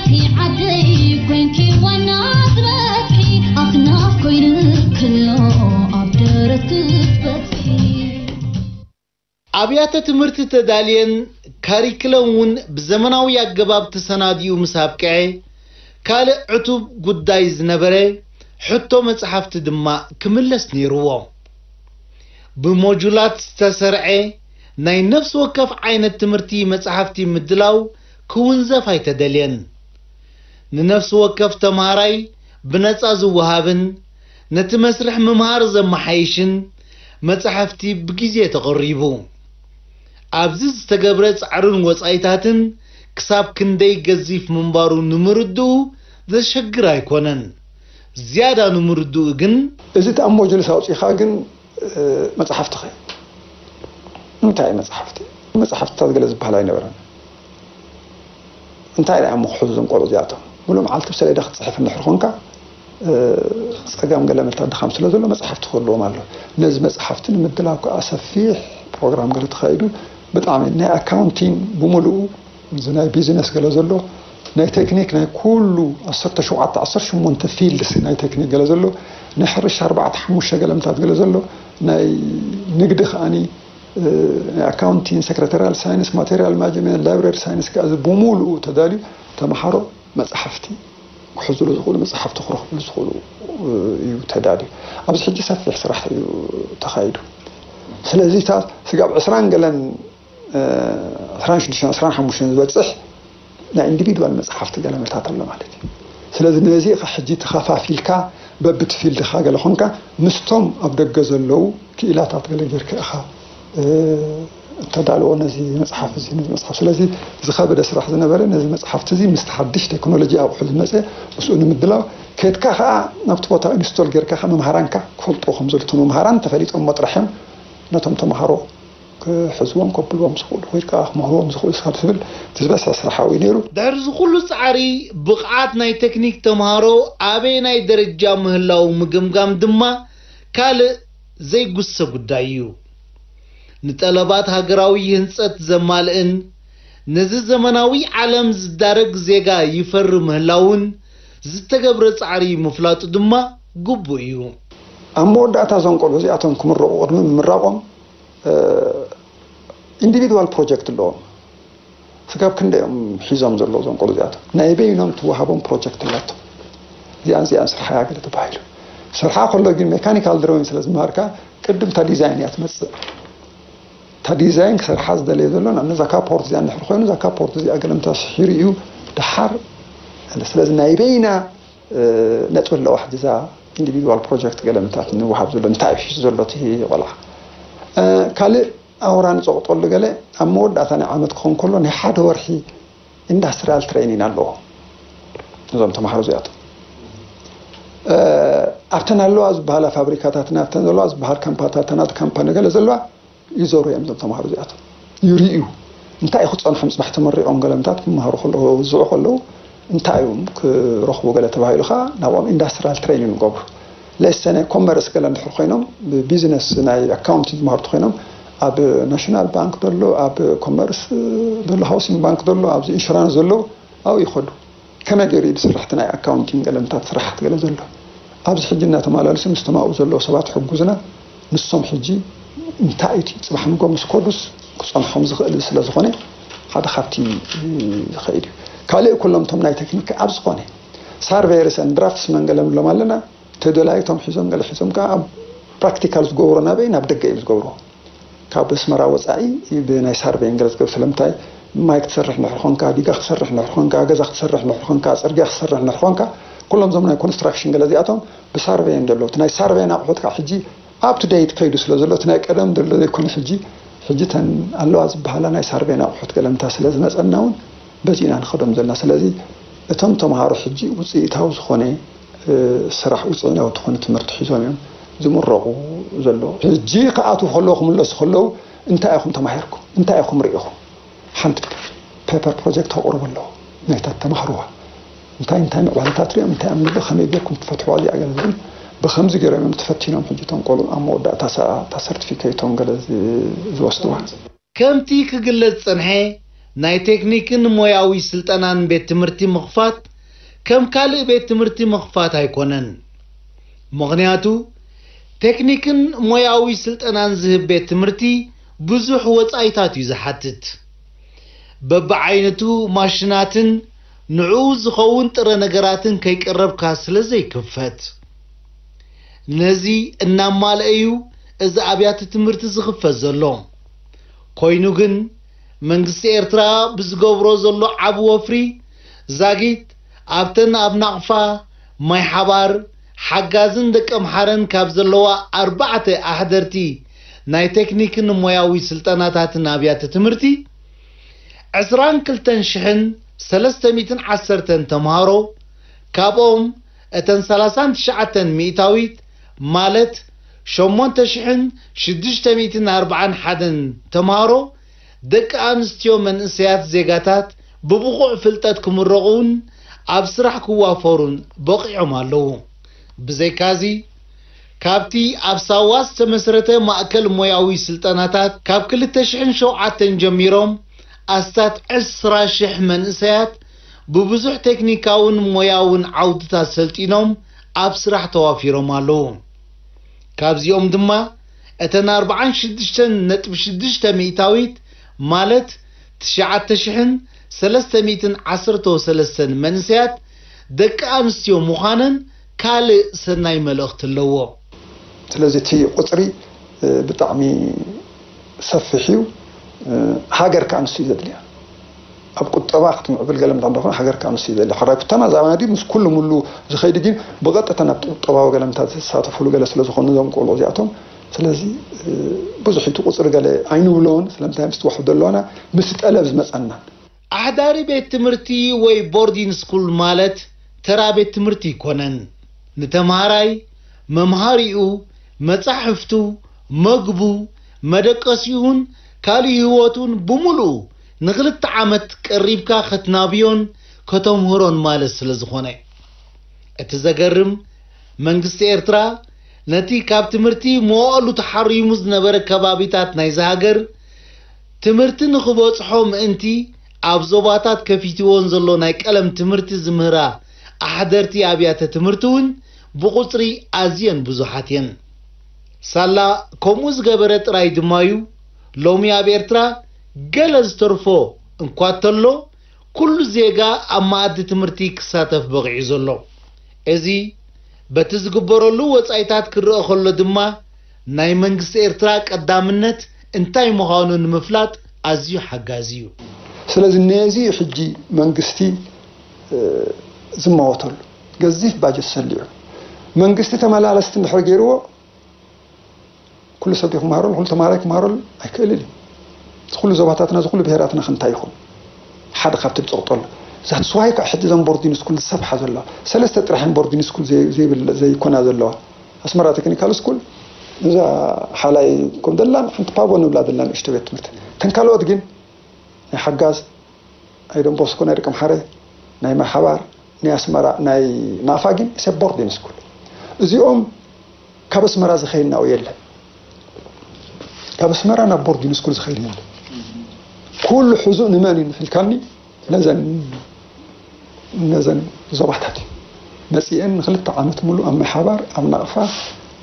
ዓደይ ኮይንኪ ዋና ዝበጽሒ ኣኽናፍ ኮይኑ ክሎ ኣብ ደረት ክትበጽሒ። ኣብያተ ትምህርቲ ተዳልየን ካሪክለም እውን ብዘመናዊ ኣገባብ ተሰናዲኡ ምስ ኣብቅዐ፣ ካልእ ዕቱብ ጉዳይ ዝነበረ ሕቶ መጽሓፍቲ ድማ ክምለስ ነይርዎ። ብሞጁላት ዝተሰርዐ ናይ ነፍሲ ወከፍ ዓይነት ትምህርቲ መጽሓፍቲ ምድላው ክውንዘፍ ኣይተደልየን። ንነፍሲ ወከፍ ተምሃራይ ብነጻ ዝወሃብን ነቲ መስርሕ ምምሃር ዘመሓይሽን መጻሕፍቲ ብግዜ ተቐሪቡ። ኣብዚ ዝተገብረ ጻዕርን ወጻኢታትን ክሳብ ክንደይ ገዚፍ ምንባሩ ንምርድኡ ዘሸግር ኣይኮነን። ዝያዳ ንምርድኡ ግን እዚ እቲ ኣብ ሞጁልስ ኣውፂኻ ግን መፅሓፍትኸ እንታይ መፅሓፍቲ መፅሓፍትታት ገለ ዝበሃል ኣይነበረን። እንታይ ደኣ እሞ ክሕዙ እዞም ቆልዑ እዚኣቶም? ሙሉእ መዓልቲ ብሰሌዳ ክትፅሕፍ እንድሕር ኮንካ፣ ጸገም ገለ ምልታት ድኻም ስለ ዘሎ መፅሓፍቲ ክህልዎም ኣሎ። ነዚ መፅሓፍቲ ንምድላው ከዓ ሰፊሕ ፕሮግራም ገለ ተኻይዱ። ብጣዕሚ ናይ ኣካውንቲንግ ብሙሉኡ፣ እዚ ናይ ቢዝነስ ገለ ዘሎ፣ ናይ ቴክኒክ ናይ ኩሉ ዓሰርተ ሸውዓተ ዓሰርተ ሸሞንተ ፊልድስ ናይ ቴክኒክ ገለ ዘሎ፣ ናይ ሕርሻ ኣርባዕተ ሓሙሽተ ገለ ምልታት ገለ ዘሎ፣ ናይ ንግዲ ከዓኒ ናይ ኣካውንቲንግ፣ ሰክረታሪያል ሳይንስ፣ ማቴሪያል ማኔጅመንት፣ ላይብረሪ ሳይንስ ከኣ እዚ ብሙሉኡ ተዳልዩ ተምሃሮ መጻሕፍቲ ክሕዝሉ ዝኽእሉ መጻሕፍቲ ክረኽብሉ ዝኽእሉ እዩ ተዳልዩ። ኣብዚ ሕጂ ሰፊሕ ስራሕ እዩ ተኻይዱ። ስለዚ እታ ስጋብ ዕስራን ገለን ዕስራን ሽዱሽተን ዕስራን ሓሙሽተን ዝበጽሕ ናይ ኢንዲቪድዋል መጽሓፍቲ ገለ መታት ኣሎ ማለት እዩ። ስለዚ ነዚ ኢኻ ሕጂ ተኸፋፊልካ በብቲ ፊልድኻ ገለ ኾንካ ምስቶም ኣብ ደገ ዘለዉ ክኢላታት ገለ ጌርካ ኢኻ እተዳልዎ ነዚ መጽሓፍ እዚ ነዚ መጽሓፍ ስለዚ ዝኸበደ ስራሕ ዝነበረ ነዚ መጽሓፍቲ እዚ ምስቲ ሓድሽ ቴክኖሎጂ ኣቑሑ ዝመጸ ምስኡ ንምድላው ከድካ ኸዓ ናብቲ ቦታ ኢንስቶል ጌርካ ኸዓ መምሃራንካ ክፈልጥዎ ከም ዘልቱ መምሃራን ተፈሊጦሞ ጥራሕ እዮም ነቶም ተምሃሮ ክሕዝዎም ከብልዎም ዝኽእሉ ወይ ከዓ ክምህርዎም ዝኽእሉ ስኻብ ዝብል እቲ ዝበዝሐ ስራሕ ኣብኡ እዩ ነይሩ። ድሕሪ እዚ ኩሉ ጻዕሪ ብቕዓት ናይ ቴክኒክ ተምሃሮ ኣበየናይ ደረጃ ምህላዉ ምግምጋም ድማ ካልእ ዘይጉሰ ጉዳይ እዩ። ንጠለባት ሃገራዊ ህንጸት ዘማልእን ነዚ ዘመናዊ ዓለም ዝዳረግ ዜጋ ይፈሪ ምህላዉን ዝተገብረ ጻዕሪ ምፍላጡ ድማ ግቡእ እዩ። ኣብ መወዳእታ እዞም ቆልዑ እዚኣቶም ክምረቑ ቅድሚ ምምራቖም ኢንዲቪድዋል ፕሮጀክት ኣለዎም። ስጋብ ክንደይ እዮም ሒዞም ዘለዉ እዞም ቆልዑ እዚኣቶም? ናይ በይኖም ትወሃቦም ፕሮጀክት ኣላቶም። እዚኣን እዚኣን ስርሓያ ገለ ተባሂሉ ስርሓ ከሎ ግን ሜካኒካል ድሮዊን ስለ ዝመሃርካ ቅድም እታ ዲዛይን እያ ትመፅእ። እታ ዲዛይን ክሰርሓ ዝደለየ ዘሎ ናብ ነዛ ካፖርት እዚኣ እንድሕር ኮይኑ እዛ ካፖርት እዚኣ ገለምታ ስሒሩ እዩ ድሓር ስለዚ ናይ በይና ነጥቢ ኣለዋ ሕጂ እዛ ኢንዲቪድዋል ፕሮጀክት ገለምታት ንወሃብ ዘሎ እንታይ እዩ ሒዙ ዘሎ እቲ ቆልዓ ካልእ ኣውራ ንፀቕጠሉ ገለ ኣብ መወዳእታ ናይ ዓመት ክኸውን ከሎ ናይ ሓደ ወርሒ ኢንዳስትሪያል ትሬኒን ኣለዎ እዞም ተምሃሮ እዚኣቶም ኣብተን ኣለዋ ዝበሃላ ፋብሪካታትና ኣብተን ዘለዋ ዝበሃል ካምፓታትና ካምፓኒ ገለ ዘለዋ ይዞሩ እዮም እዞም ተምሃሮ እዚኣቶም ይርእዩ እንታይ እዩ ክፀንሖም ፅባሕ ተመሪቖም ገለምታት ክመሃሩ ከለዉ ዝውዝዑ ከለዉ እንታይ እዮም ክረኽቡ ገለ ተባሂሉ ከዓ ናብኦም ኢንዳስትሪያል ትሬኒን ይገብሩ ለሰ ናይ ኮመርስ ገለ እንድሕር ኮይኖም ብቢዝነስ ናይ ኣካውንቲንግ ዝመሃሩ ተኮይኖም ኣብ ናሽናል ባንክ ዘሎ ኣብ ኮመርስ ዘሎ ሃውሲንግ ባንክ ዘሎ ኣብዚ ኢንሹራንስ ዘሎ ኣብኡ ይኸዱ ከመይ ገይሩ እዩ ዝስራሕ እቲ ናይ ኣካውንቲንግ ገለምታት ስራሓት ገለ ዘሎ ኣብዚ ሕጂ እናተመላለሱ ምስቶም ኣብኡ ዘለዉ ሰባት ሕጉዝና ንሶም ሕጂ እንታይ እቲ ፅባሕ ንጎ ምስ ከዱስ ክፀንሖም ዝኽእል ስለ ዝኾነ ሓደ ካብቲ ዝኸይድ እዩ ካልእ ኩሎም እቶም ናይ ቴክኒክ ኣብ ዝኾነ ሳርቬየርስ ን ድራፍትስ መን ገለ ንብሎም ኣለና ተደላይቶም ሒዞም ገለ ሒዞም ከዓ ኣብ ፕራክቲካል ዝገብሮ ናበይ ናብ ደገ እዮም ዝገብርዎ ካብ ኣስመራ ወፃኢ ብናይ ሳርቬይን ገለ ዝገብር ስለምንታይ ማይ ክትሰርሕ እንድሕር ኾንካ ዲጋ ክትሰርሕ እንድሕር ኾንካ ገዛ ክትሰርሕ እንድሕር ኾንካ ፅርግያ ክትሰርሕ እንድሕር ኾንካ ኩሎም እዞም ናይ ኮንስትራክሽን ገለ እዚኣቶም ብሳርቬይ እዮም ዘለዉ እቲ ናይ ሳርቬይን ኣቑሑት ከዓ ሕጂ up to date ከይዱ ስለ ዘሎ እቲ ናይ ቀደም ዘሎ ዘይኮነ ሕጂ ሕጂ ተን ኣለዋ ዝበሃላ ናይ ሳርቬይን ኣቑሑት ገለምታ ስለ ዝመፀና እውን በዚ ኢና ንኸዶም ዘለና ስለዚ እቶም ተምሃሮ ሕጂ ውፅኢታዊ ዝኾነ ስራሕ ውፅኢናዊ ዝኾነ ትምህርቲ ሒዞም እዮም ዝምረቑ ዘለዉ። ሕጂ ክኣትዉ ከለዉ ክምለሱ ከለዉ እንታይ ኢኹም ተማሂርኩም? እንታይ ኢኹም ርኢኹም? ሓንቲ ፔፐር ፕሮጀክት ከቕርቡ ኣለዉ። ናይታ ተማህርዋ እንታይ እንታይ ምዕባለታት ሪኦም እንታይ ኣብ ንብሎ ከመይ ጌርኩም ትፈትሕዋ እዚኣ ገለ ዝብል ብኸምዚ ገይሮም እዮም ተፈቲኖም ሕጂ እቶም ቆልዑ ኣብ መወዳእታ ሰ- እታ ሰርቲፊኬቶም ገለ ዝ- ዝወስድዋ። ከምቲ ክግለጽ ዝጸንሐ፣ ናይ ቴክኒክን ሞያዊ ስልጠናን ቤት ትምህርቲ ምኽፋት ከም ካልእ ቤት ትምህርቲ ምኽፋት ኣይኮነን። ምኽንያቱ፣ ቴክኒክን ሞያዊ ስልጠናን ዝህብ ቤት ትምህርቲ ብዙሕ ወጻኢታት እዩ ዝሓትት። በብዓይነቱ ማሽናትን ንዕኡ ዝኸውን ጥረ ነገራትን ከይቀረብካ ስለ ዘይክፈት። ነዚ እናማልአ እዩ እዚ ኣብያተ ትምህርቲ ዝኽፈት ዘሎ። ኮይኑ ግን መንግስቲ ኤርትራ ብዝገብሮ ዘሎ ዓቢ ወፍሪ ዛጊት ኣብተን ኣብ ናቕፋ፣ ማይ ሓባር፣ ሓጋዝን ደቀምሓረን ካብ ዘለዋ ኣርባዕተ ኣሕደርቲ ናይ ቴክኒክን ሞያዊ ስልጠናታትን ኣብያተ ትምህርቲ ዕስራን ክልተን ሽሕን ሰለስተ ሚእትን ዓሰርተን ተምሃሮ፣ ካብኦም እተን ሰላሳን ትሽዓተን ሚእታዊት ማለት ሸሞንተ ሽሕን ሽዱሽተ ሚእትን ኣርባዓን ሓደን ተምሃሮ ደቂ ኣንስትዮ መንእሰያት ዜጋታት ብብቑዕ ፍልጠት ክምረቑን ኣብ ስራሕ ክዋፈሩን በቒዖም ኣለዉ። ብዘይካዚ፣ ካብቲ ኣብ ሳዋ ዝተመስረተ ማእከል ሞያዊ ስልጠናታት ካብ ክልተ ሽሕን ሸውዓተን ጀሚሮም ኣስታት ዕስራ ሽሕ መንእሰያት ብብዙሕ ቴክኒካውን ሞያውን ዓውድታት ሰልጢኖም ኣብ ስራሕ ተዋፊሮም ኣለዉ። ካብዚኦም ድማ እተን ኣርባዓን ሽዱሽተን ነጥቢ ሽዱሽተ ሚእታዊት ማለት ትሽዓተ ሽሕን ሰለስተ ሚእትን ዓሰርተ ሰለስተን መንእሰያት ደቂ ኣንስትዮ ምዃነን ካልእ ሰናይ መልእኽቲ ኣለዎ። ስለዚ እቲ ቁጽሪ፣ እ፣ ብጣዕሚ ሰፊሕ እዩ። እ፣ ሃገር ከኣ ንሱ እዩ ዘድልያ። ኣብ ቁጠባ ክትምዕብል ገለ ምታ እንደኾነ ሃገር ከኣ ንሱ እዩ ዘድልያ። ሕራይ ኩታና ዛባና ድዩ ምስ ኩሉ ሙሉ ዝኸይድ ግን ብቐጥታ ናብ ቁጠባዊ ገለ ምታ ዝሳተፉሉ ገለ ስለ ዝኾኑ እዞም ቆልዑ እዚኣቶም። ስለዚ፣ እ፣ ብዙሕ እቲ ቁጽሪ ገለ ኣይንብሎን። ስለምንታይ ምስ ትዋሕዶ ኣለዋና ምስ ጠለብ ዝመጸና። ኣሕዳሪ ቤት ትምህርቲ ወይ ቦርዲን ስኩል ማለት ተራ ቤት ትምህርቲ ኣይኮነን። ንተምሃራይ፣ መምሃሪኡ፣ መጻሕፍቱ፣ መግቡ፣ መደቀሲኡን ካልእ ህይወቱን ብምሉኡ ንኽልተ ዓመት ቀሪብካ ከትናብዮን ከተምህሮን ማለት ስለ ዝኾነ። እቲ ዘገርም፣ መንግስቲ ኤርትራ ነቲ ካብ ትምህርቲ መዋእሉ ተሓሪሙ ዝነበረ ከባቢታት ናይዚ ሃገር ትምህርቲ ንኽበጽሖ ምእንቲ ኣብ ዞባታት ከፊትዎን ዘሎ ናይ ቀለም ትምህርቲ ዝምህራ ኣሕደርቲ ኣብያተ ትምህርቲ እውን ብቑጽሪ ኣዝየን ብዙሓት እየን። ሳላ ከምኡ ዝገበረ ጥራይ ድማ እዩ ሎሚ ኣብ ኤርትራ ገለ ዝተርፎ እንኳ ተሎ ኩሉ ዜጋ ኣብ መኣዲ ትምህርቲ ክሳተፍ በቒዑ ዘሎ። እዚ በቲ ዝግበረሉ ወጻኢታት ክረአ ከሎ ድማ ናይ መንግስቲ ኤርትራ ቀዳምነት እንታይ ምዃኑ ንምፍላጥ ኣዝዩ ሓጋዚ እዩ። ስለዚ ነዚ እዩ ሕጂ መንግስቲ፣ እ፣ ዝማወተሉ። ገዚፍ ባጀት ሰሊዑ መንግስቲ ተመላለስቲ እንድሕር ገይርዎ ኩሉ ሰብ ድዩ ክመሃረሉ? ኩሉ ተምሃራይ ክመሃረሉ ኣይክእልን እዩ። እዚ ኩሉ ዞባታትና፣ እዚ ኩሉ ብሄራትና ክንታይ ይኹን? ሓደ ካብቲ ዝጸቕጠሉ። That's why ከዓ ሕጂ እዞም ቦርዲን ስኩል ዝሰፍሓ ዘለዋ። ሰለስተ ጥራሕ እየን ቦርዲን ስኩል ዘይ-፣ ዘይብል-፣ ዘይኮና ዘለዋ። ኣስመራ ቴክኒካል ስኩል፣ እዛ ሓላይ ከም ደላን ሓንቲ ፓቦ ንብላ ደላ ንእሽቶ ቤት ትምህርቲ። እተን ካልኦት ግን ናይ ሓጋዝ፣ ናይ ዶን ቦስኮ፣ ናይ ደቀምሓረ፣ ናይ ማይ ሓባር፣ ናይ ኣስመራ፣ ናይ ናፋ ግን it's a boarding school። እዚኦም ካብ ኣስመራ ዝኸይድ ናብኡ የለን። ካብ ኣስመራ ናብ ቦርዲን ስኩል ዝኸይድ የለን። ኩሉ ሕዙእ ንመን እዩ ንፊልካኒ? ነዘን፣ ነዘን ዞባታት እዩ መጺኤን። ንክልተ ዓመት ሙሉእ ኣብ ማይ ሓባር፣ ኣብ ናቕፋ፣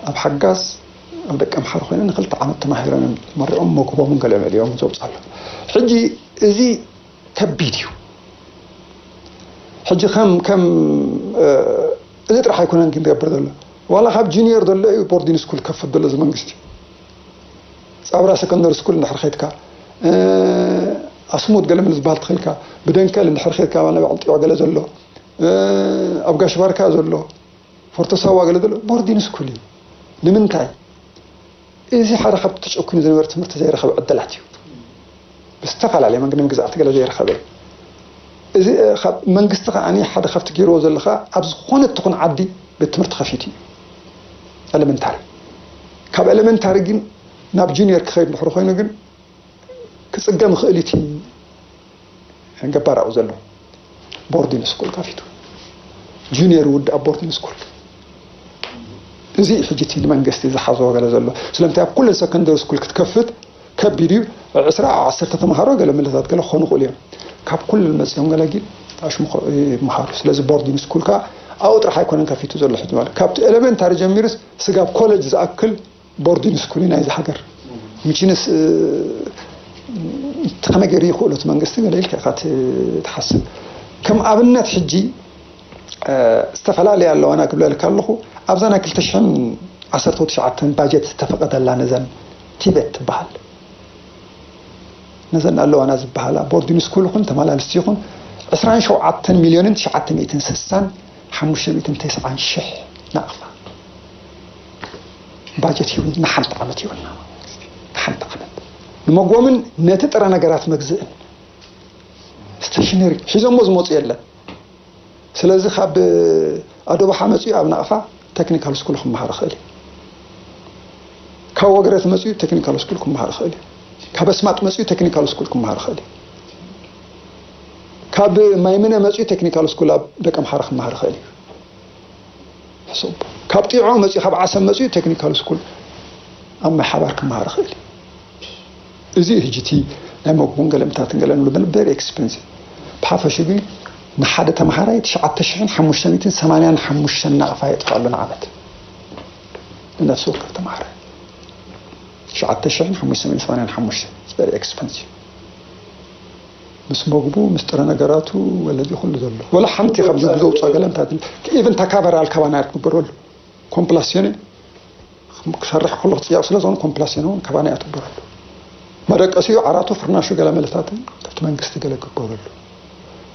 ኣብ ሓጋዝ፣ ኣብ ደቀምሓረ ኮይነን ንክልተ ዓመት ተማሂረን እዮም መሪቖም መግቦምን ገለ መሊኦም ዘውፅኣሉ። ሕጂ እዚ ከቢድ እዩ። ሕጂ ከም፣ ከም፣ እ፣ እዚ ጥራሕ ኣይኮነን ግን ዝገብር ዘሎ። ዋላ ካብ ጁኒየር ዘሎ እዩ ቦርዲን ስኩል ከፍት ዘሎ እዚ መንግስቲ። ጻብራ ሰከንደሪ ስኩል እንድሕር ኸይድካ፣ እ፣ ኣስሙት ገለ መለ ዝበሃል ተኸይልካ፣ ብደንከል እንድሕር ኸይድካ፣ ናብ ዕንጢዖ ገለ ዘሎ፣ እ፣ ኣብ ጋሽ ባርካ ዘሎ፣ ፎርቶ ሳዋ ገለ ዘሎ ቦርዲን ስኩል እዩ። ንምንታይ? እዚ ሓደ ካብቲ ተጨኩኑ ዝነበረ ትምህርቲ ዘይረኸበ ዕድላት እዩ። ብዝተፈላለየ መንገዲ መግዛእቲ ገለ ዘይረኸበ እዩ። እዚ፣ እ፣ ካብ መንግስቲ ከኣ ሓደ ካብቲ ገይርዎ ዘሎ ከኣ ኣብ ዝኾነ ትኹን ዓዲ ቤት ትምህርቲ ከፊቱ እዩ። ኤለመንታሪ። ካብ ኤለመንታሪ ግን ናብ ጁኒየር ክኸይድ እንድሕር ኮይኑ ግን ክጽገም ይኽእል እዩ እቲ ገባር ኣብኡ ዘሎ። ቦርዲን ስኩል ከፊቱ። ጁኒየር ይውዳእ ኣብ ቦርዲን ስኩል። እዚ እዩ ሕጂ እቲ ንመንግስቲ ዝሓዞ ገለ ዘሎ። ስለምንታይ ኣብ ኩለን ሰከንደሪ ስኩል ክትከፍት ከቢድ እዩ። ዕስራ ዓሰርተ ተምሃሮ ገለ መለታት ገለ ክኾኑ ይኽእሉ እዮም። ካብ ኩሉ መፂኦም ገለ ግን ኣሽምኾ ይመሃሩ። ስለዚ ቦርዲንግ ስኩል ከዓ ኣብኡ ጥራሕ ኣይኮነን ከፊቱ ዘሎ ሕጂ። ማለት ካብቲ ኤሌመንታሪ ጀሚርስ ስጋብ ኮሌጅ ዝኣክል ቦርዲንግ ስኩል እዩ ናይዚ ሃገር። ምችንስ ከመይ ገይሩ ይኽእሎ እቲ መንግስቲ ገለ ኢልካ ኢኻ ትሓስብ። ከም ኣብነት ሕጂ ዝተፈላለያ ኣለዋና ክብለልካ ኣለኹ። ኣብዛ ናይ ክልተ ሽሕን ዓሰርተ ትሽዓተን ባጀት ዝተፈቐደላ ነዘን ቲቤት ትበሃል፣ ነዘን ኣለዋና ዝበሃላ ቦርዲንግ ስኩል ይኹን ተመላልስቲ ይኹን ዕስራን ሸውዓተን ሚልዮንን ትሽዓተ ሚእትን ስሳን ሓሙሽተ ሚእትን ተስዓን ሽሕ ናቕፋ ባጀት ይሁን ንሓንቲ ዓመት ይሁንና ንሓንቲ ዓመት ንመጎምን ነቲ ጥረ ነገራት መግዝእን ስቴሽነሪ ሒዞሞ ዝመፁ የለን። ስለዚ ካብ ኣዶባሓ መፅኡ ኣብ ናቕፋ ቴክኒካል ስኩል ክመሃር ይኽእል እዩ። ካብ ወግረት መፅኡ ቴክኒካል ስኩል ክመሃር ይኽእል እዩ። ካብ ኣስማጥ መፅኡ ቴክኒካል ስኩል ክመሃር ይኽእል እዩ። ካብ ማይምነ መፅኡ ቴክኒካል ስኩል ኣብ ደቀምሓረ ክመሃር ይኽእል እዩ። ሕሱብ ካብ ጢዖ መፅኡ ካብ ዓሰብ መፅኡ ቴክኒካል ስኩል ኣብ ማይ ሓባር ክመሃር ይኽእል እዩ። እዚ ሕጂ እቲ ናይ መግቡን ገለምታትን ገለ ንብሎ ቨሪ ኤክስፐንሲቭ። ብሓፈሹ ግን ንሓደ ተምሃራይ ትሽዓተ ሽሕን ሓሙሽተ ሚእትን ሰማንያን ሓሙሽተን ናቕፋ የጥፍኣሉ ንዓመት ንነፍሲ ወከፍ ተምሃራይ ትሽዓተ ሽሕን ሓሙሽተ ሚእትን ሰማንያን ሓሙሽተ ቨሪ ኤክስፐንሲቭ። ምስ መግቡ ምስ ጥረ ነገራቱ ወለዚ ኩሉ ዘሎ ወላ ሓንቲ ካብ ጅቡ ዘውፅኦ ገለምታት ኢቨን ተካበራል ካባና ክትግበረሉ ኮምፕላሲዮን ክሰርሕ ከሎ ክፅያቕ ስለ ዝኾነ ኮምፕላሲዮን እውን ካባና እያ ትግበረሉ። መደቀሲኡ ዓራቱ ፍርናሹ ገለ መለታትን ካብቲ መንግስቲ ገለ ክግበረሉ።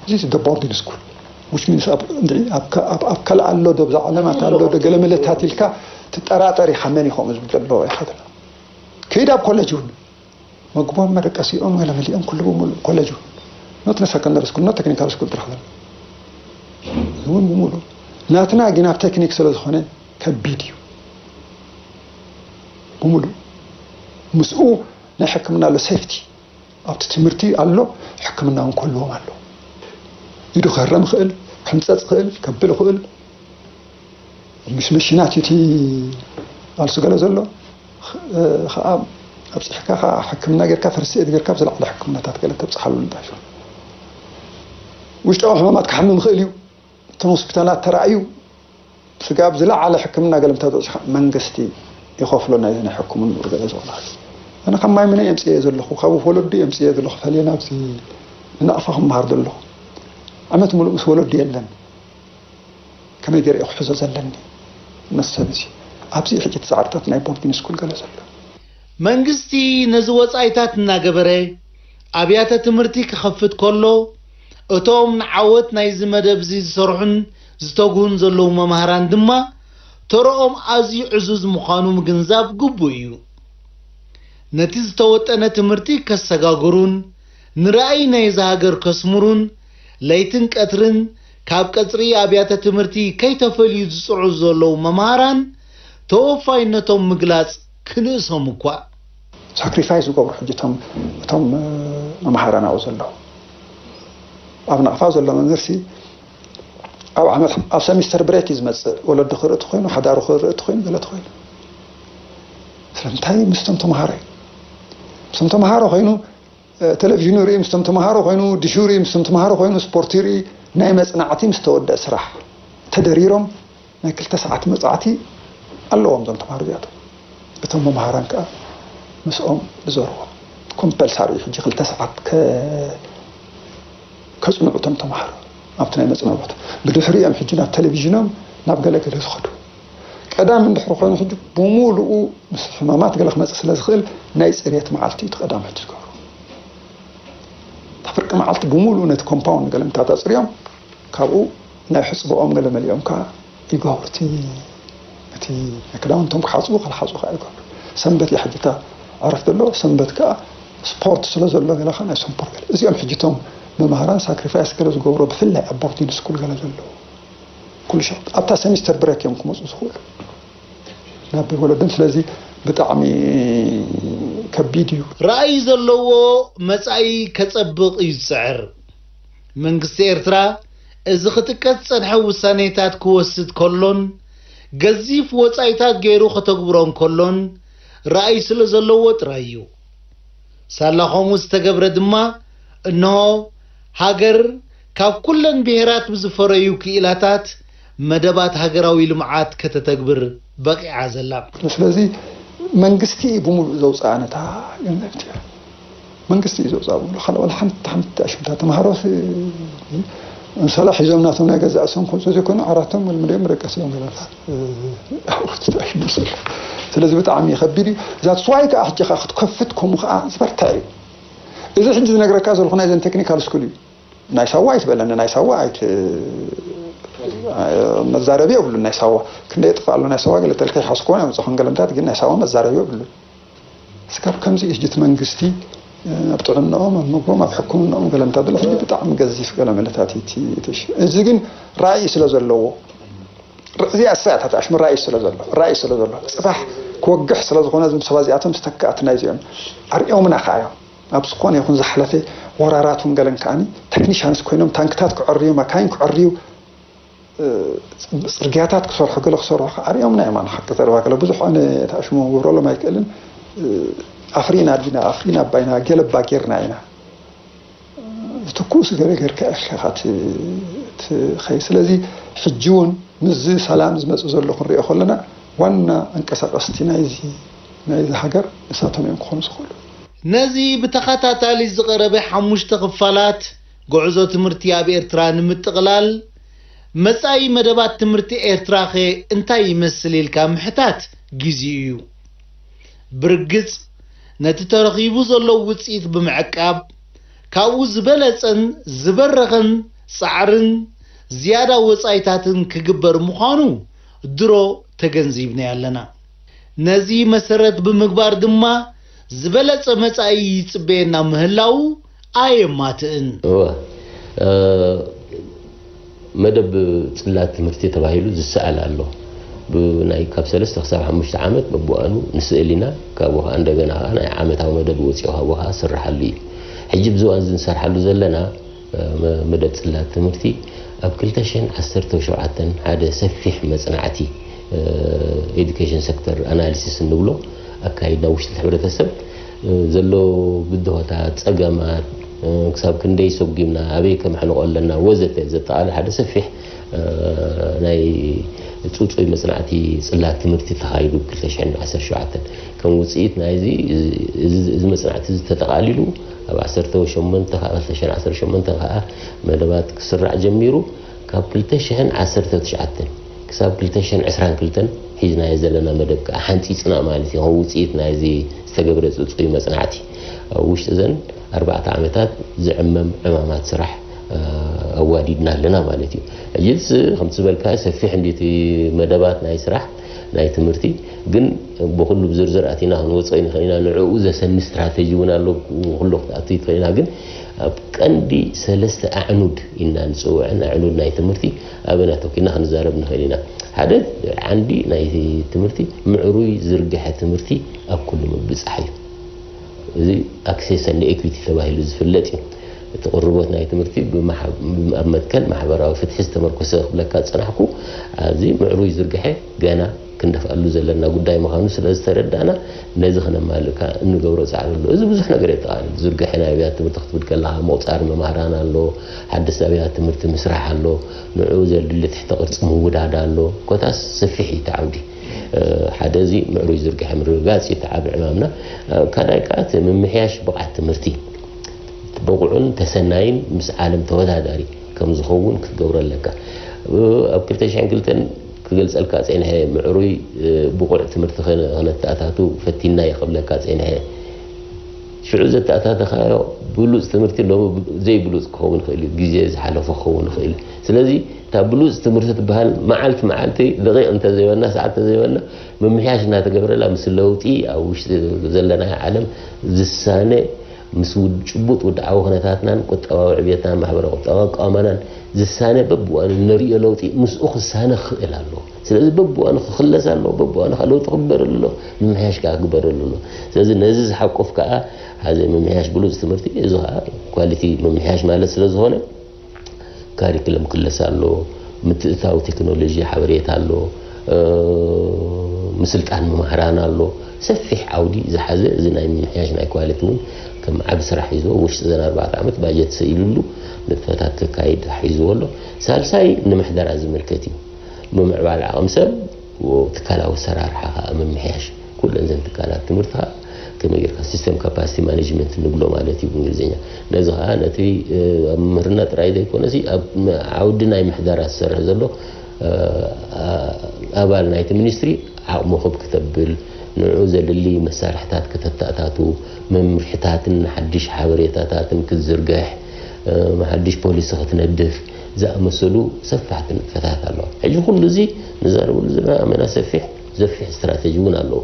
እዚ the boarding school which means ኣብ እንድዒ ኣብ ከ- ኣብ- ኣብ ካልእ ኣሎ ዶ ብዛ ዓለማት ኣሎ ዶ ገለ መለታት ኢልካ ትጠራጠር ኢኻ መን ኢኹም ዝብል ዘለዎ ኢኻ ትብሎ። ከይድ ኣብ ኮሌጅ እውን መግቦም መደቀሲኦም ገለ መሊኦም ኩሉ ብምሉእ ኮሌጅ እውን not secondary school not technical school ትረኽበን እውን ብምሉእ ናትና ግን ኣብ ቴክኒክ ስለ ዝኾነ ከቢድ እዩ። ብምሉእ ምስኡ ናይ ሕክምና ኣሎ ሴፍቲ ኣብቲ ትምህርቲ ኣሎ። ሕክምና እውን ክህልዎም ኣሎ። ኢዱ ክህረም ይኽእል፣ ክሕንፀፅ ይኽእል፣ ከብል ይኽእል። ምስ መሽናት እዩ እቲ ቃልሱ ገለ ዘሎ ከዓ ኣብፅሕካ ከዓ ሕክምና ጌርካ ፈርስት ኤድ ጌርካ ኣብ ዝለዓለ ሕክምናታት ገለ ተብፅሓሉ ንጣሽ ውሽጣዊ ሕማማት ክሓምም ይኽእል እዩ። እቶም ሆስፒታላት ተራእዩ ስጋብ ዝለዓለ ሕክምና ገለ እንተበፅሓ መንግስቲ ይኸፍሎ ናይዚ ናይ ሕክምንኡ ገለ ዝኾነ ኣነ ካብ ማይ ምነ የምፅየ ዘለኹ ካብ ወለዱ የምፅየ ዘለኹ ፈልየ ናብዚ ንናቕፋ ክመሃር ዘለኹ ዓመት ሙሉእ ምስ ወለዱ የለን። ከመይ ገይረ ክሕዞ ዘለኒ መሰብ እዚ ኣብዚ ሕጂ እቲ ፃዕርታት ናይ ቦርዲን ስኩል ገለ ዘሎ መንግስቲ ነዚ ወፃኢታት እናገበረ ኣብያተ ትምህርቲ ክኸፍት ከሎ እቶም ንዓወት ናይዚ መደብ እዚ ዝሰርሑን ዝተጉሁን ዘለዉ መምሃራን ድማ ተረኦም ኣዝዩ ዕዙዝ ምዃኑ ምግንዛብ ግቡእ እዩ። ነቲ ዝተወጠነ ትምህርቲ ከሰጋግሩን ንራእይ ናይዛ ሃገር ከስምሩን ለይትን ቀትርን ካብ ቀፅሪ ኣብያተ ትምህርቲ ከይተፈልዩ ዝፅዕሩ ዘለዉ መምሃራን ተወፋይነቶም ምግላፅ ክንእሶም እኳ። ሳክሪፋይስ ዝገብሩ ሕጂ እቶም እቶም መምሃራን ኣብኡ ዘለዉ ኣብ ናቕፋ ዘሎ መምህርሲ ኣብ ዓመት ኣብ ሰሚስተር ብሬክ እዩ ዝመፅእ ወለዱ ክርኢ ተኮይኑ ሓዳሩ ክርኢ ተኮይኑ ገለ ተኮይኑ ስለምንታይ ምስቶም ተምሃሮ እዩ ምስቶም ተምሃሮ ኮይኑ ቴሌቪዥኑ ይርኢ ምስቶም ተምሃሮ ኮይኑ ዲሹ ይርኢ ምስቶም ተምሃሮ ኮይኑ ስፖርት ይርኢ ናይ መፅናዕቲ ምስ ተወደአ ስራሕ ተደሪሮም ናይ ክልተ ሰዓት መፅናዕቲ ኣለዎም እዞም ተምሃሮ እዚኣቶም እቶም መምሃራን ከዓ ምስኦም ዝዞርዎም ኮምፐልሳሪ እዩ ሕጂ ክልተ ሰዓት ከፅንዑ እቶም ተምሃሮ ኣብቲ ናይ መፅንዖ ቦታ ብድሕሪኦም ሕጂ ናብ ቴሌቪዥኖም ናብ ገለገለ ዝኸዱ ቀዳም እንድሕር ኮይኑ ሕጂ ብሙሉኡ ምስ ሕማማት ገለ ክመፅእ ስለ ዝኽእል ናይ ፅርየት መዓልቲ እዩ እቲ ቀዳም ሕጂ ዝገብሩ እታ ፍርቂ መዓልቲ ብሙሉኡ ነቲ ኮምፓውንድ ገለ ምታት ኣፅርዮም ካብኡ ናይ ሕፅብኦም ገለ መሊኦም ከዓ ይገብሩ እቲ እቲ ክዳውንቶም ክሓፅቡ ከልሓፁ ከዓ ይገብሩ ሰንበት እያ ሕጂ እታ ዕረፍቲ ኣለዎ ሰንበት ከዓ ስፖርት ስለ ዘሎ ገለ ከዓ ናይ ሰምፖር ገለ እዚኦም ሕጂ እቶም መምሃራን ሳክሪፋይስ ገለ ዝገብሩ ብፍላይ ኣብ ቦርዲንግ ስኩል ገለ ዘለዉ ኩሉ ሸ ኣብታ ሰሚስተር ብሬክ እዮም ክመፁ ዝኽእሉ ናብ ወለዶም ስለዚ ብጣዕሚ ከቢድ እዩ ራእይ ዘለዎ መጻኢ ከጸብቕ እዩ ዝጽዕር መንግስቲ ኤርትራ እዚ ክጥቀስ ዝጸንሐ ውሳኔታት ክወስድ ከሎን ገዚፍ ወጻኢታት ገይሩ ከተግብሮ እንከሎን ራእይ ስለ ዘለዎ ጥራይ እዩ ሳላ ከምኡ ዝተገብረ ድማ፣ እንሆ ሃገር ካብ ኩለን ብሄራት ብዝፈረዩ ክኢላታት መደባት ሃገራዊ ልምዓት ከተተግብር በቒዓ ዘላ። ስለዚ መንግስቲ እዩ ብምሉእ ዘውፅኣ ነታ ዩኒቨርሲቲ። መንግስቲ እዩ ዘውፅኣ ብምሉእ። ካልእ ዋላ ሓንቲ ሓንቲ ኣሽምታ ተምሃሮ ሲ-፣ ምሳሌ ሒዞም ናቶም ናይ ገዛእ ርእሶም ከምፅኡ ዘይኮኑ ዓራቶም መልምልዮም ረቀስዮም ገለታ። ኣብኡ ትጠሽ ይመስል። ስለዚ ብጣዕሚ ከቢድ እዩ። እዛ ስዋይ ከዓ ሕጂ ከዓ ክትከፍት ከምኡ ከዓ ዝበርታ እዩ። እዚ ሕጂ ዝነግረካ ዘለኹ ናይዘን ቴክኒካል ስኩል እዩ። ናይ ሳዋ ኣይትበለኒ፣ ናይ ሳዋ ኣይት-፣ መዛረቢ የብሉን። ናይ ሳዋ ክንደይ የጥፍእ ኣሎ፣ ናይ ሳዋ ገለ ተልካ ይሓስኮን ያምፅኹን ገለምታት፣ ግን ናይ ሳዋ መዛረቢ የብሉን። እስካብ ከምዚ እዩ ሕጂ እቲ መንግስቲ ኣብ ጥዕናኦም፣ ኣብ ምግቦም፣ ኣብ ሕክምናኦም ገለምታት ዘሎ ሕጂ ብጣዕሚ ገዚፍ ገለመለታት እዩ እቲ፣ እቲ ሽ-፣ እዚ ግን ራእይ ስለ ዘለዎ፣ እዚ ኣሳያታት ኣሽሙ ራእይ ስለ ዘሎ፣ ራእይ ስለ ዘሎ፣ ፅባሕ ክወግሕ ስለ ዝኾነ፣ እዞም ሰባት እዚኣቶም ዝተካእቲ ናይ እዚኦም ኣርእዮምና ከኣ እዮም። ኣብ ዝኾነ ይኹን ዝሓለፈ ወራራት እውን ገለን ከኣኒ ቴክኒሻንስ ኮይኖም ታንክታት ክዕርዩ፣ ማካይን ክዕርዩ፣ እ፣ ጽርግያታት ክሰርሑ፣ ገለ ክሰርሑ ከኣ ኣርእዮምና እዮም። ኣነ ሓቂ ዘረባ ገለ ብዙሕ ኣነ ተኣሽሞ ክገብረሎም ኣይክእልን። እ፣ ኣፍሪና ዲና፣ ኣፍሪና ኣባይና፣ ገለባ ጌርና ኢና። ዝትኩስ ገለ ጌርካ ኢኻ ት-፣ ትኸይድ። ስለዚ ሕጂ እውን ምስዚ ሰላም ዝመጽእ ዘሎ ክንሪኦ ከለና ዋና ኣንቀሳቐስቲ ናይዚ፣ ናይዚ ሃገር ንሳቶም እዮም ክኾኑ ዝኽእሉ። ነዚ ብተኸታታሊ ዝቐረበ ሓሙሽተ ክፋላት ጉዕዞ ትምህርቲ ኣብ ኤርትራ ንምጥቕላል፣ መጻኢ መደባት ትምህርቲ ኤርትራኸ እንታይ ይመስል ኢልካ ምሕታት ግዜኡ እዩ። ብርግጽ፣ ነቲ ተረኺቡ ዘሎ ውጽኢት ብምዕቃብ፣ ካብኡ ዝበለጸን ዝበረኸን ጻዕርን ዝያዳ ወጻኢታትን ክግበር ምዃኑ ድሮ ተገንዚብናዮ ኣለና። ነዚ መሰረት ብምግባር ድማ፣ ዝበለጸ መጻኢ ይጽበየና ምህላዉ ኣየማትእን። እወ፣ እ፣ መደብ ጽላት ትምህርቲ ተባሂሉ ዝሰኣል ኣሎ። ብናይ ካብ ሰለስተ ክሳብ ሓሙሽተ ዓመት በብዋኑ ንስእል ኢና። ካብኡ ኸኣ እንደገና ኸኣ ናይ ዓመታዊ መደብ ወጺኡ ካብኡ ኸኣ ዝስርሓሉ እዩ። ሕጂ ኣብዚ እዋን እዚ ንሰርሓሉ ዘለና፣ እ፣ መ-፣ መደብ ጽላት ትምህርቲ ኣብ ክልተ ሽሕን ዓሰርተ ሸውዓተን ሓደ ሰፊሕ መጽናዕቲ፣ እ፣ ኤዱኬሽን ሴክተር ኣናሊሲስ እንብሎ ኣካይድና ውሽጢ እቲ ሕብረተሰብ፣ እ፣ ዘሎ ብድሆታት፣ ጸገማት፣ እ፣ ክሳብ ክንደይ ሰጒምና፣ ኣበይ ከመሕንቖ ኣለና ወዘተ ዘጠቓልል ሓደ ሰፊሕ፣ እ፣ ናይ ጽጹይ መጽናዕቲ ጽላት ትምህርቲ ተኻይዱ ብ ክልተ ሽሕን ዓሰርተ ሸውዓተን። ከም ውጽኢት ናይዚ፣ እዚ፣ እዚ፣ እዚ መጽናዕቲ እዚ ተጠቓሊሉ ኣብ ዓሰርተ ሸሞንተ ከዓ፣ ክልተ ሽሕን ዓሰርተ ሸሞንተ ከዓ መደባት ክስራዕ ጀሚሩ። ካብ ክልተ ሽሕን ዓሰርተ ትሽዓተን ክሳብ ክልተ ሽሕን ዕስራን ክልተን ሒዝናዮ ዘለና መደብ ከዓ ሓንጺጽና ማለት እዩ። ከም ውጽኢት ናይዚ ዝተገብረ ጽጹይ መጽናዕቲ፣ ኣብ ውሽጢ እዘን ኣርባዕተ ዓመታት ዝዕመም ዕማማት ስራሕ፣ እ፣ ኣዋዲድና ኣለና ማለት እዩ። ሕጂስ ከምቲ ዝበልካ ሰፊሕ እንዲ እቲ መደባት ናይ ስራሕ ናይ ትምህርቲ፣ ግን ብኹሉ ብዝርዝር ኣቲና ክንወፅኦ ንኽእል ኢና። ንዕኡ ዘሰኒ ስትራተጂ እውን ኣሎ፣ ኩሉ ክትኣቱ ትኽእል ኢና። ግን ኣብ ቀንዲ ሰለስተ ኣዕኑድ ኢና ንፅውዐን ኣዕኑድ ናይ ትምህርቲ፣ ኣበን ኣተኪና ክንዛረብ ንኽእል ኢና። ሓደ ዓንዲ ናይ ትምህርቲ ምዕሩይ ዝርግሐ ትምህርቲ ኣብ ኩሉ ምብፃሕ እዩ። እዚ ኣክሴስ and ኤኩዊቲ ተባሂሉ ዝፍለጥ እዩ። እቲ ቅርቦት ናይ ትምህርቲ ብማሕ-፣ ኣብ መትከል ማሕበራዊ ፍትሒ ዝተመርኮሰ ክብለካ ዝጸናሕኩ፣ ኣብዚ ምዕሩይ ዝርግሐ ገና ክንደፍኣሉ ዘለና ጉዳይ ምዃኑ ስለ ዝተረዳእና፣ ነዚ ክነማልእ ከኣ እንገብሮ ጻዕሪ ኣሎ። እዚ ብዙሕ ነገር የጠቓልል። ዝርግሐ ናይ ኣብያተ ትምህርቲ ክትብል ከለኻ፣ ምቑጻር መማህራን ኣሎ፣ ሓደስቲ ኣብያተ ትምህርቲ ምስራሕ ኣሎ፣ ንዕኡ ዘድሊ ትሕተ ቅርጺ ምውዳድ ኣሎ። ኮታስ ሰፊሕ እዩ እቲ ዓውዲ። እ፣ ሓደ እዚ ምዕሩይ ዝርግሐ ምርግጋጽ እዩ እቲ ዓቢ ዕማምና። እ፣ ካልኣይ ከኣ እቲ ምምሕያሽ ብቕዓት ትምህርቲ። ብቑዕን ተሰናይን ምስ ዓለም ተወዳዳሪ ከም ዝኸውን ክትገብሮ ኣለካ። እ፣ ኣብ ክልተ ሽሕን ክልተን ክገልጸልካ ጸኒሐ፣ ምዕሩይ፣ እ፣ ብቑዕ ትምህርቲ ከነ-፣ ከነተኣታቱ ፈቲና እየ ክብለካ ጸኒሐ። ሽዑ ዘተኣታተኻዮ ብሉጽ ትምህርቲ ሎሚ ዘይብሉጽ ክኸውን ይኽእል እዩ፣ ግዜ ዝሓለፎ ክኸውን ይኽእል እዩ። ስለዚ እታ ብሉጽ ትምህርቲ ትበሃል መዓልቲ መዓልቲ ደቂቕ እንተዘይበልና፣ ሰዓት እንተዘይበልና፣ ምምሕያሽ እናተገብረላ፣ ምስ ለውጢ ኣብ ውሽጢ ዘለናዮ ዓለም ዝሳነ፣ ምስ ውድ-፣ ጭቡጥ ውድዓዊ ኩነታትናን ቁጠባዊ ዕብየትናን ማሕበረ ቁጠባዊ ኣቃውማናን ዝሳነ በብእዋኑ እንርእዮ ለውጢ ምስኡ ክሳነ ክኽእል ኣለዎ። ስለዚ በብእዋኑ ክኽለስ ኣለዎ፣ በብእዋኑ ከዓ ለውጢ ክግበረሉ ኣለዎ፣ ምምሕያሽ ከዓ ክግበረሉ ኣለዎ። ስለዚ ነዚ ዝሓቁፍ ከዓ ሓደ ምምሕያሽ ብሉጽ ትምህርቲ፣ እዚ ከዓ ኳሊቲ ምምሕያሽ ማለት ስለ ዝኾነ፣ ካሪክለም ክለስ ኣሎ፣ ምትእታው ቴክኖሎጂ ሓበሬታ ኣሎ፣ እ፣ ምስልጣን መማህራን ኣሎ። ሰፊሕ ዓውዲ ዝሓዘ እዚ ናይ ምምሕያሽ ናይ ኳሊቲ እውን ከም ዓብ ስራሕ ሒዝዎ ውሽጢ ዘን ኣርባዕተ ዓመት ባጀት ሰኢሉሉ ንጥፈታት ክካይድ ሒዝዎ ኣሎ። ሳልሳይ ንምሕደራ ዝምልከት እዩ። ምምዕባል ዓቕሚ ሰብ፣ ትካላዊ ኣሰራርሓ ከዓ ምምሕያሽ። ኩለን ዘን ትካላት ትምህርቲ ከዓ ከመይ ጌርካ system capacity management ንብሎ ማለት እዩ ብእንግሊዝኛ። ነዚ ከዓ ነቲ ኣብ ምምህርና ጥራይ ዘይኮነሲ ኣብ ዓውዲ ናይ ምሕደራ ዝሰርሕ ዘሎ ኣባል ናይቲ ሚኒስትሪ ዓቕሙ ክብ ክተብል፣ ንዕኡ ዘድሊ መሳርሕታት ክተተኣታቱ፣ መምርሕታትን ሓድሽ ሓበሬታታትን ክትዝርግሕ፣ ሓድሽ ፖሊሲ ክትነድፍ ዝኣመሰሉ ሰፋሕቲ ንጥፈታት ኣለዋ። ሕጂ ኩሉ እዚ ንዛረበሉ ዘለና ኣመና ሰፊሕ ዘፊሕ ስትራተጂ እውን ኣለዎ።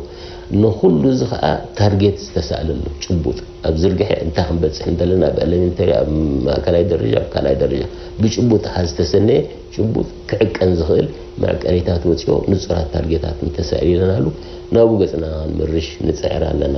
ንኩሉ እዚ ከዓ ታርጌት ዝተሳእለሉ ጭቡጥ ኣብ ዝርግሐ እንታይ ክንበፅሕ እንደለና ኣብ ኤሌመንተሪ ኣብ ማእከላይ ደረጃ ኣብ ካልኣይ ደረጃ ብጭቡጥ ሓ ዝተሰነየ ጭቡጥ ክዕቀን ዝኽእል መዕቀኒታት ወፂኦ ንፁራት ታርጌታት እንተሳኢልናሉ ናብኡ ገፅና ክንምርሽ ንፅዕር ኣለና።